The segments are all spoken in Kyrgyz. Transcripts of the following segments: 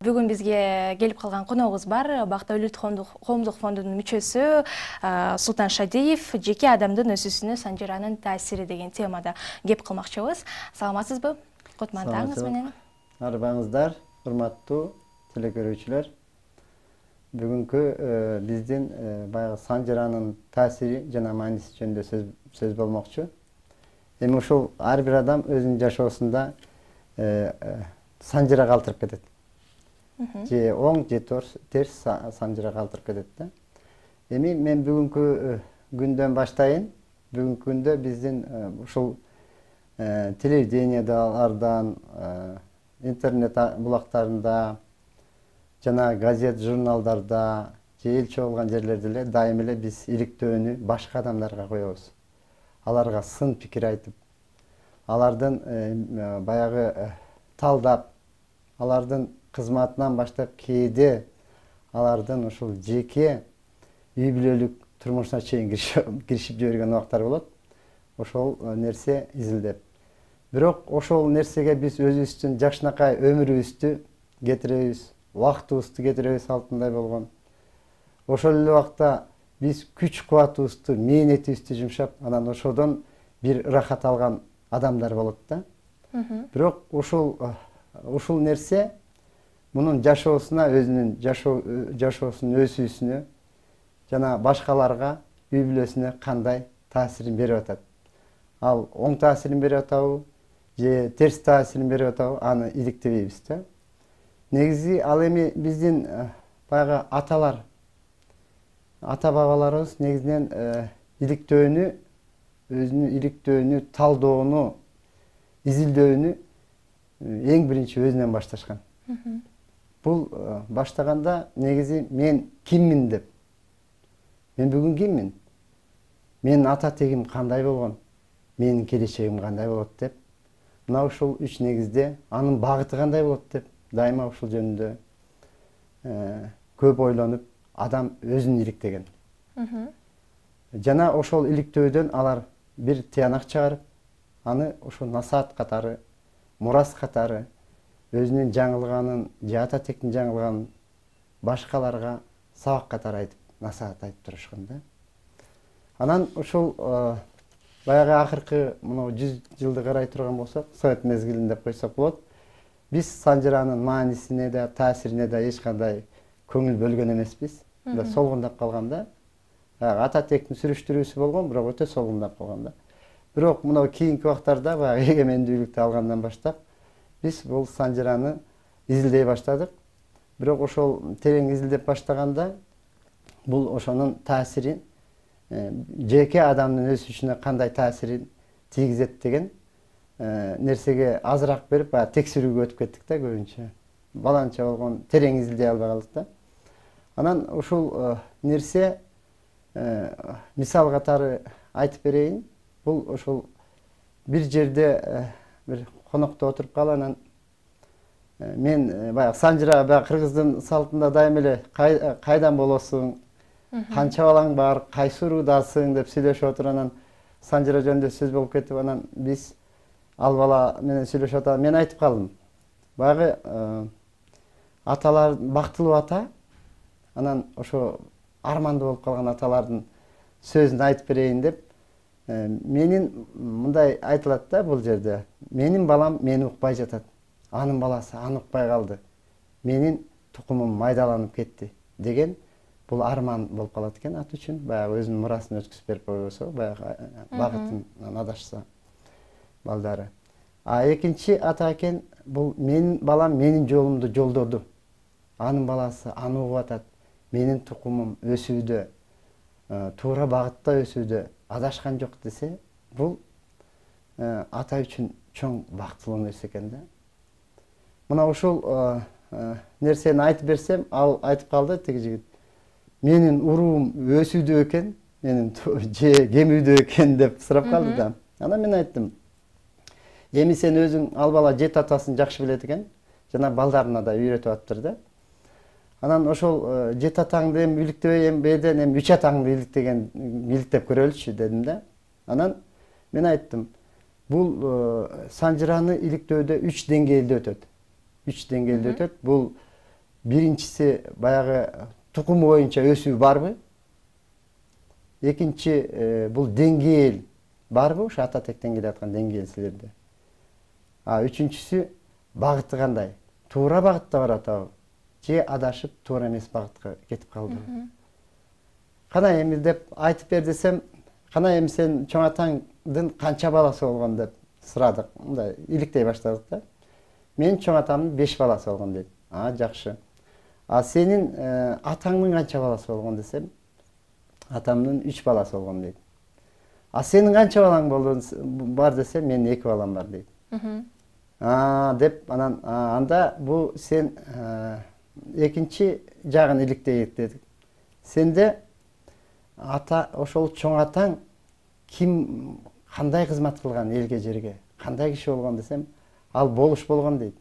Бүгүн бизге келип калган коногубуз бар. Бактылуулук коомдук фондунун мүчөсү Султан Шадиев жеке адамдын өсүүсүнө санжыранын таасири деген темада кеп кылмакчыбыз. Саламатсызбы? Кутман таңыңыз менен. Арбаңыздар, урматтуу телекөрүүчүлөр. Бүгүнкү биздин баягы санжыранын таасири жана мааниси жөнүндө сөз болмокчу. Эми ушул ар бир адам өзүнүн жашоосунда санжыра калтырып кетет. Же оң, же терс санжыра калтырып кетет да. Эми мен бүгүнкү күндөн баштайын. Бүгүнкү күндө биздин ушул телевидениялардан, интернет булактарында жана газет, журналдарда же эл чогулган жерлерде эле дайым эле биз иликтөөнү башка адамдарга коебуз. Аларга сын пикир айтып, алардын баягы талдап, алардын кызматынан баштап кээде алардын ушул жеке үй бүлөлүк турмушуна чейин киришип жиберген убактар болот. Ошол нерсе изилдеп. Бирок ошол нерсеге биз өзүбүздүн жакшынакай өмүрүбүздү кетиребиз, убактыбызды кетиребиз алтындай болгон. Ошол эле убакта биз күч кубатыбызды, мээнетибизди жумшап, анан ошодон бир ырахат алган адамдар болот да. Бирок ушул нерсе мунун жашоосуна, өзүнүн жашоосунун өсүүсүнө жана башкаларга, үй бүлөсүнө кандай таасирин берип атат. Ал оң таасирин берип атабы, же терс таасирин берип атабы, аны иликтебейбиз да. Негизи ал эми биздин баягы аталар, ата-бабаларыбыз негизинен иликтөөнү, өзүнүн иликтөөнү, талдоону, изилдөөнү эң биринчи өзүнөн башташкан. Бул баштаганда негизи мен киммин деп. Мен бүгүн киммин? Менин ата тегим кандай болгон? Менин келечегим кандай болот деп. Мына ушул үч негизде анын багыты кандай болот деп дайыма ушул жөнүндө көп ойлонуп, адам өзүн иликтеген. Жана ошол иликтөөдөн алар бир тыянак чыгарып, аны ошо насаат катары, мурас катары өзүнүн жаңылганын, же ата тектин жаңылганын башкаларга сабак катары айтып, насаат айтып турушкан да. Анан ушул баягы акыркы мына 100 жылды карай турган болсок, совет мезгилин деп койсок болот. Биз санжыранын маанисине да, таасирине да эч кандай көңүл бөлгөн эмеспиз. Солгундап калган да. Ата тектин сүрүштүрүүсү болгон, бирок өтө солгундап калган да. Бирок мына кийинки убактарда баягы эгемендүүлүктү алгандан баштап биз бул санжыраны изилдей баштадык. Бирок ошол терең изилдеп баштаганда бул ошонун таасирин жеке адамдын өсүшүнө кандай таасирин тийгизет деген нерсеге азыраак берип, баягы текшерүүгө өтүп кеттик да көбүнчө. Баланча болгон, терең изилдей албай калдык да. Анан ушул нерсе мисал катары айтып берейин. Бул ошол бир жерде бир конокто отуруп калып, анан мен баягы санжыра, баягы кыргыздын салтында дайым эле кайдан болосуң, канча балаң бар, кайсы уруудасың деп сүйлөшүп отуруп, анан санжыра жөнүндө сөз болуп кетип, анан биз ал бала менен сүйлөшүп атам. Мен айтып калдым. Баягы аталар бактылуу ата, анан ошо армандуу болуп калган аталардын сөзүн айтып берейин деп, менин мындай айтылат да бул жерде. Менин балам мени укпай жатат. Анын баласы аны укпай калды. Менин тукумум майдаланып кетти деген бул арман болуп калат экен ат үчүн. Баягы өзүнүн мурасын өткүзүп берип койбосо, баягы багытын адашса балдары. Экинчи ата экен, бул менин балам менин жолумду жолдоду. Анын баласы аны угуп атат. Менин тукумум өсүүдө, туура багытта өсүүдө, адашкан жок десе, бул ата үчүн чоң бактылуу нерсе экен да. Мына ушул нерсени айтып берсем, ал айтып калды тиги жигит. Менин уруум өсүүдө экен, менин же кемүүдө экен деп сурап калды да. Анан мен айттым. Эми сен өзүң ал бала жет атасын жакшы билет экен, жана балдарына да үйрөтүп атыптыр да. Анан ошол жет атаңды эми иликтебей, эми беден эми үч атаңды иликтеп көрөлүчү дедим да. Анан мен айттым, бул санжыраны иликтөөдө 3 деңгээлде өтөт. 3 деңгээлде өтөт. Бул биринчиси баягы тукум боюнча өсүү барбы? Экинчи бул деңгээл барбы? Ушу ата тектен келаткан деңгээл силерде. Үчүнчүсү багыты кандай? Туура багытта барат абы? Же адашып туура эмес багытка кетип калдыбы? Кана эми деп айтып бер десем, кана эми сен чоң атаңдын канча баласы болгон деп сурадык. Мындай иликтей баштадык да. Мен чоң атамдын 5 баласы болгон дейт. Жакшы. Сенин атаңдын канча баласы болгон десем, атамдын 3 баласы болгон дейт. Сенин канча балаң бар десем, менин 2 балам бар дейт. Деп анан анда бул сен экинчи жагын иликтейик дедик. Сенде ата ошол чоң атаң ким, кандай кызмат кылган элге жерге, кандай киши болгон десем, ал болуш болгон дейт.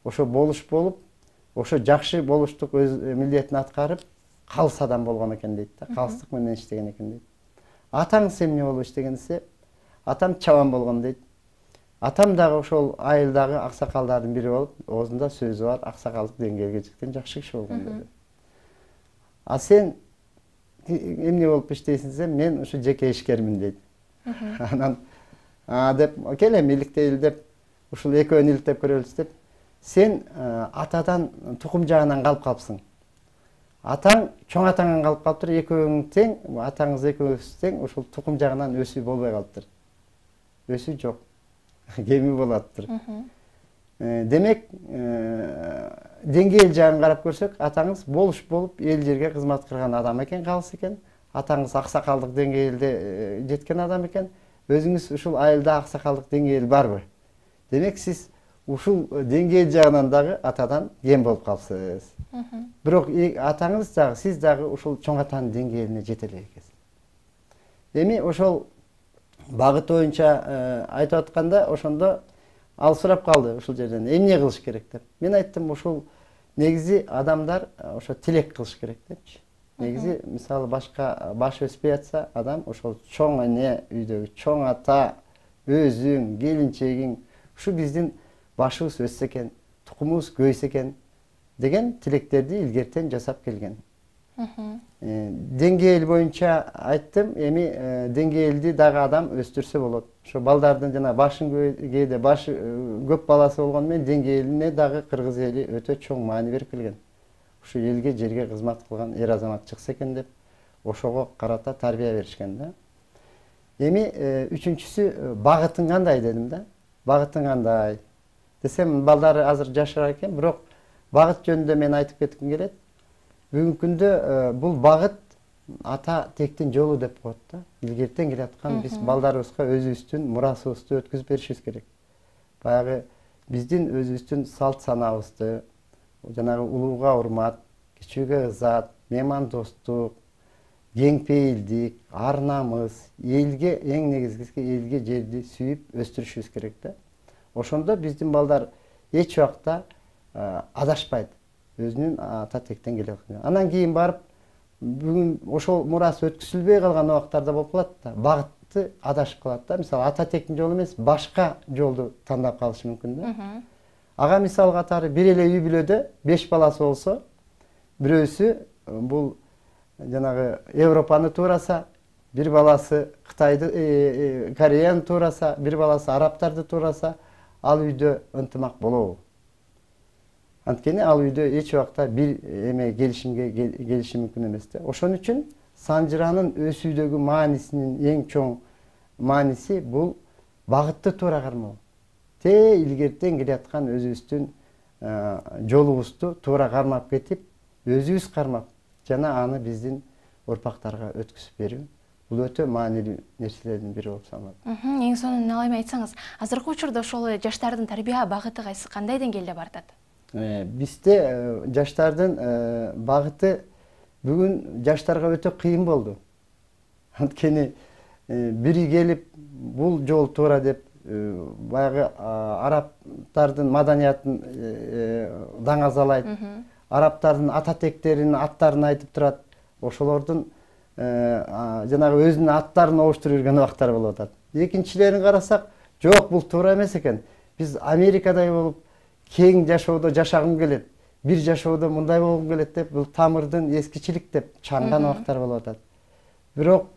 Ошо болуш болуп, ошо жакшы болуштук өз милдетин аткарып, калыс адам болгон экен дейт да, калыстык менен иштеген экен дейт. Атаңыз эмне болуп иштеген десе, атам чабан болгон дейт. Атам дагы ошол айылдагы аксакалдардын бири болуп, оозунда сөзү бар, аксакалдык деңгээлге жеткен жакшы киши болгон деди. Сен эмне болуп иштейсиң десем, мен ушу жеке ишкермин дейт. Анан деп кел эми иликтейли деп, ушул экөөнү иликтеп көрөлүбүз деп, сен атадан тукум жагынан калып калыпсың. Атаң чоң атаңан калып калыптыр, экөөң тең, атаңыз экөөңүз тең, ушул тукум жагынан өсүү болбой калыптыр. Өсүү жок. Кеми болаттыр. Демек, деңгээл жагын карап көрсөк, атаңыз болуш болуп, эл жерге кызмат кылган адам экен, калыс экен. Атаңыз аксакалдык деңгээлде жеткен адам экен. Өзүңүз ушул айылда аксакалдык деңгээл барбы? Демек, сиз ушул деңгээл жагынан дагы атадан кем болуп калыпсыз. Бирок атаңыз дагы, сиз дагы ушул чоң атанын деңгээлине жете элек экенсиз. Эми ошол багыт боюнча айтып атканда, ошондо ал сурап калды ушул жерден эмне кылыш керек деп. Мен айттым, ушул негизи адамдар ошо тилек кылыш керек депчи. Негизи мисалы башка баш өспөй атса, адам ошол чоң эне үйдөгү чоң ата, өзүң, келинчегиң, ушу биздин башыбыз өссө экен, тукумубуз көйсө экен деген тилектерди илгертен жасап келген. Деңгээл боюнча айттым, эми деңгээлди дагы адам өстүрсө болот. Ошо балдардын жана башын кээде башы көп баласы болгону менен деңгээлине дагы кыргыз эли өтө чоң маани берип келген. Ушу элге, жерге кызмат кылган эр азамат чыкса экен деп, ошого карата тарбия беришкен да. Эми үчүнчүсү багытың кандай дедим да. Багытың кандай десем, балдары азыр жашар экен, бирок багыт жөнүндө мен айтып кетким келет. Бүгүнкү күндө бул багыт ата тектин жолу деп коет да. Илгертен келаткан биз балдарыбызга өзүбүздүн мурасыбызды өткүзүп беришибиз керек. Баягы биздин өзүбүздүн салт санабызды, жанагы улууга урмат, кичүүгө ызат, меймандостук, кеңпейилдик, ар намыс, элге эң негизгиси элге жерди сүйүп өстүрүшүбүз керек да. Ошондо биздин балдар эч убакта адашпайт. Өзүнүн ата тектен келе аткан. Анан кийин барып, бүгүн ошол мурас өткүзүлбөй калган убактарда болуп калат да, багытты адашып калат да. Мисалы ата тектин жолу эмес, башка жолду тандап калышы мүмкүн да. Ага мисал катары бир эле үй бүлөдө 5 баласы болсо, бирөөсү бул жанагы Европаны туураса, бир баласы Кытайды, Кореяны туураса, бир баласы арабтарды туураса, ал үйдө ынтымак болобу? Анткени ал үйдө эч убакта бир эме келиши мүмкүн эмес да. Ошон үчүн Санжыранын өсүүдөгү маанисинин эң чоң мааниси бул багытты туура кармоо. Илгертен келаткан өзүбүздүн жолубузду туура кармап кетип, өзүбүз кармап, жана аны биздин урпактарга өткүзүп берүү. Бул өтө маанилүү нерселердин бири болуп саналат. Эң сонун алайма айтсаңыз, азыркы учурда ошол жаштардын тарбия багыты кандай деңгээлде бартат? Бизде жаштардын багыты бүгүн жаштарга өтө кыйын болду. Анткени бири келип бул жол туура деп баягы арабтардын маданиятын даңазалайт, арабтардын ата тектеринин аттарын айтып турат, ошолордун жанагы өзүнүн аттарын обуштуруп жүргөн убактар болуп атат. Экинчилерин карасак, жок, бул туура эмес экен. Биз Америкадай болуп кең жашоодо жашагым келет. бир жашоодо мындай болгум келет деп, бул тамырдын эскичилик деп чаңган убактар болуп атат. Бирок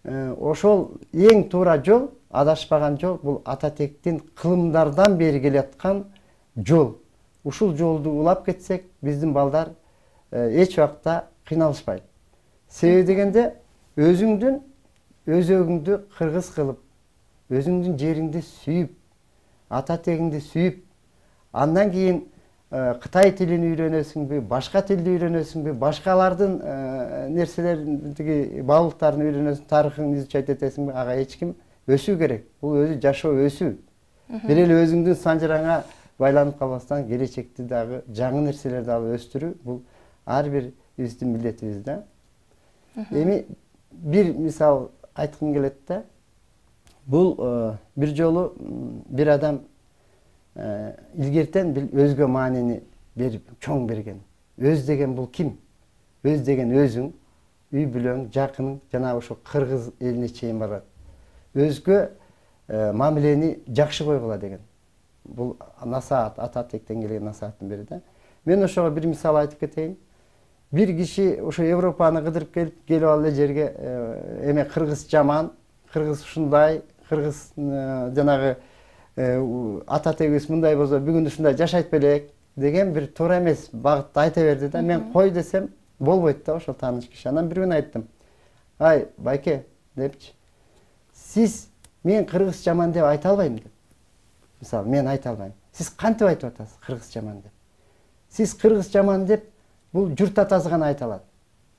ошол эң туура жол, адашпаган жол бул ата тектин кылымдардан бери келаткан жол. Ушул жолду улап кетсек, биздин балдар эч убакта кыйналышпайт. Себеби дегенде өзүңдүн өзөгүңдү кыргыз кылып, өзүңдүн жериңди сүйүп, ата тегиңди сүйүп, андан кийин Кытай тилин үйрөнөсүңбү, башка тилди үйрөнөсүңбү, башкалардын нерселерин, тиги баалыктарын үйрөнөсүң, тарыхын изучать этесиңби, ага эч ким өсүү керек. Бул өзү жашоо өсүү. Бир эле өзүңдүн санжыраңа байланып калбастан келечекти дагы жаңы нерселерди алып өстүрүү, бул ар бирибиздин милдетибиз да. Эми бир мисал айткым келет да. Бул бир жолу бир адам илгертен өзгө маанини берип, чоң берген. Өз деген бул ким? Өз деген өзүң, үй бүлөң, жакының, жана ошо кыргыз элине чейин барат. Өзгө мамилени жакшы койгула деген. Бул насаат, ата тектен келген насааттын бири да. Мен ошого бир мисал айтып кетейин. Бир киши ошо Европаны кыдырып келип ал эле жерге эме кыргыз жаман, кыргыз ушундай, кыргыз жанагы ата тегибиз мындай болсо бүгүн ушундай жашайт белек деген бир туура эмес багытты айта берди да. Мен кой десем болбойт да ошол тааныш киши. Анан бир күнү айттым. Ай, байке депчи. Сиз мен кыргыз жаман деп айта албайм деп. Мисалы, мен айта албайм. Сиз кантип айтып атасыз кыргыз жаман деп? Сиз кыргыз жаман деп бул журт атасы гана айта алат.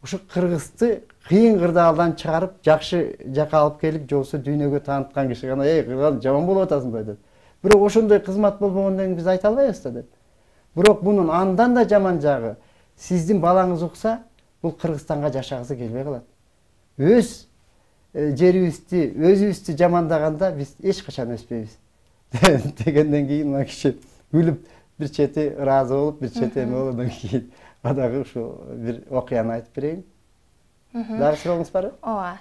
Ушу кыргызды кыйын кырдаалдан чыгарып, жакшы жака алып келип, жобосо дүйнөгө тааныткан киши гана кыргыз жаман болуп атасың деп. Бирок ошондой кызмат болбогондон кийин биз айта албайбыз да деп. Бирок мунун андан да жаман жагы, сиздин балаңыз укса, бул Кыргызстанга жашагысы келбей калат. Өз жерибизди, өзүбүздү жамандаганда биз эч качан өспөйбүз дегенден кийин мына киши күлүп, бир чети ыраазы болуп, бир чети эме болуп, андан кийин дагы ушул бир окуяны айтып берейин. Дагы сурооңуз барбы? Ооба.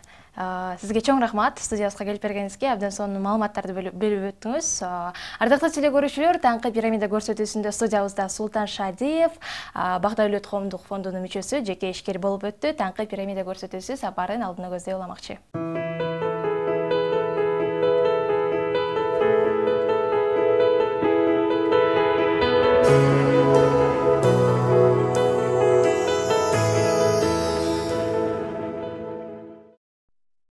Сизге чоң рахмат студиябызга келип бергениңизге, абдан сонун маалыматтарды берип өттүңүз. Ардактуу телекөрүүчүлөр, таңкы пирамида көрсөтүүсүндө студиябызда Султан Шадиев, Бак Давлет коомдук фондунун мүчөсү, жеке ишкер болуп өттү. Таңкы пирамида көрсөтүүсү сапарын алдына көздөй уламакчы.